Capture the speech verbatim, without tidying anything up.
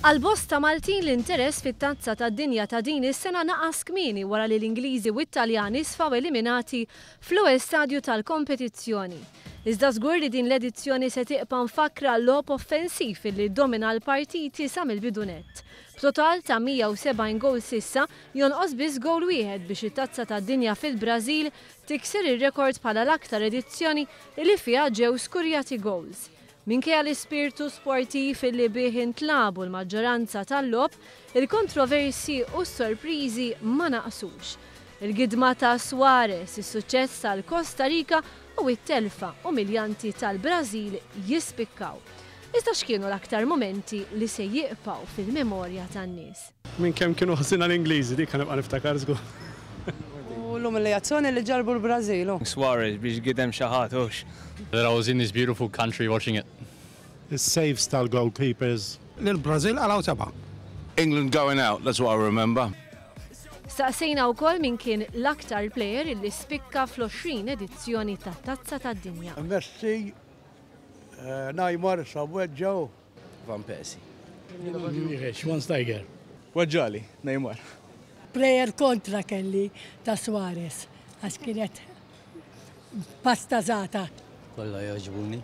Għal bosta Maltin, l-interess fit-Tazza tad-Dinja ta' din is-sena naqas kmieni wara li l-Ingliżi u Italjani sfaw eliminati fl-ewwel stadju tal-kompetizzjoni. Iżda żgur li din l-edizzjoni se tibqa' mfakkra logħob offensiv li domina l-partiti sa mill-bidu nett. B'total ta' mija u sebgħin gol s'issa, jonqos biss gol wieħed biex it-Tazza tad-Dinja fil-Brażil tikser ir-rekord bħala l-aktar edizzjoni li fiha ġew skurjati goals. Minkejja l-ispirtu sportiv li bih intlagħbu l-maġġoranza tal-logħob, il-kontroversi u s-sorpriżi ma naqsux. Il-gidma ta' Suarez, is-suċċess tal-Costa Rica u it-telfa umiljanti tal-Brażil jispikkaw. Iżda x'kienu l-aktar momenti li se jibqgħu fil-memorja tan-nies? Minn kemm kienu ħżiena l-Ingliżi, dik nibqa' niftakar żgur. U l-umiljazzjoni li ġarbu l-Brażil. Suarez biex gidem xi ħadd hux. That I was in this beautiful country watching it. The saves tal-goalkeepers. L-Brazil għalaw seba. England going out, that's what I remember. Staqsejna wkoll min kien l-aktar player li spikka fl-għoxrin edizzjoni tat-Tazza tad-Dinja. Messi, eh, Neymar, Saweġġaw. Van Persie. Schweinsteiger. Weġġali, Neymar. Player kontra kelli ta' Suarez, għax kienet pastazata. Kollha jogħġbuni.